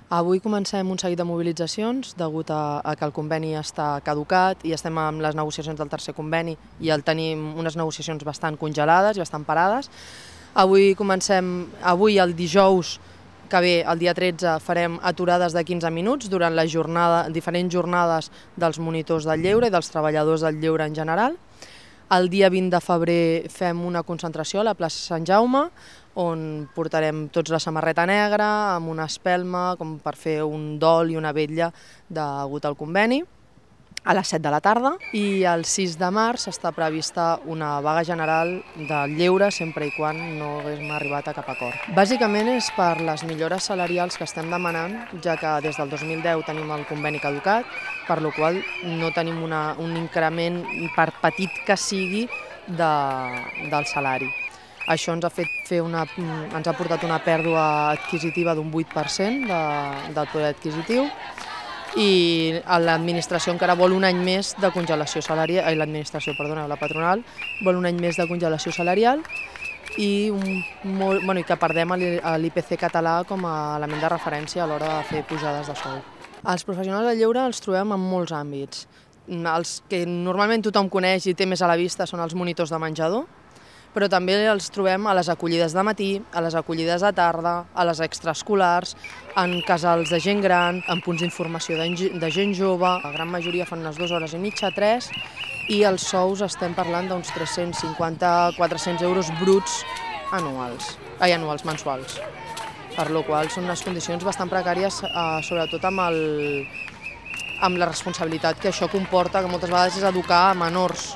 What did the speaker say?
Avui comencem un seguit de mobilitzacions degut a que el conveni està caducat i estem amb les negociacions del tercer conveni i tenim unes negociacions bastant congelades i bastant parades. Avui el dijous que ve, el dia 13, farem aturades de 15 minuts durant la diferents jornades dels monitors del lleure i dels treballadors del lleure en general. El dia 20 de febrer fem una concentració a la plaça Sant Jaume, on portarem tots la samarreta negra, amb una espelma, com per fer un dol i una vetlla degut al conveni, a les 7 de la tarda. I el 6 de març està prevista una vaga general del lleure, sempre i quan no haguem arribat a cap acord. Bàsicament és per les millores salarials que estem demanant, ja que des del 2010 tenim el conveni caducat, per la qual no tenim un increment, per petit que sigui, del salari. Això ens ha portat una pèrdua adquisitiva d'un 8% del poder adquisitiu i l'administració encara vol un any més de congelació salarial, la patronal vol un any més de congelació salarial i que perdem l'IPC català com a element de referència a l'hora de fer pujades de sou. Els professionals del lleure els trobem en molts àmbits. Els que normalment tothom coneix i té més a la vista són els monitors de menjador, però també els trobem a les acollides de matí, a les acollides de tarda, a les extraescolars, en casals de gent gran, en punts d'informació de gent jove. La gran majoria fan unes 2 hores i mitja, 3, i els sous estem parlant d'uns 350-400 euros bruts mensuals. Per la qual són unes condicions bastant precàries, sobretot amb la responsabilitat que això comporta, que moltes vegades és educar a menors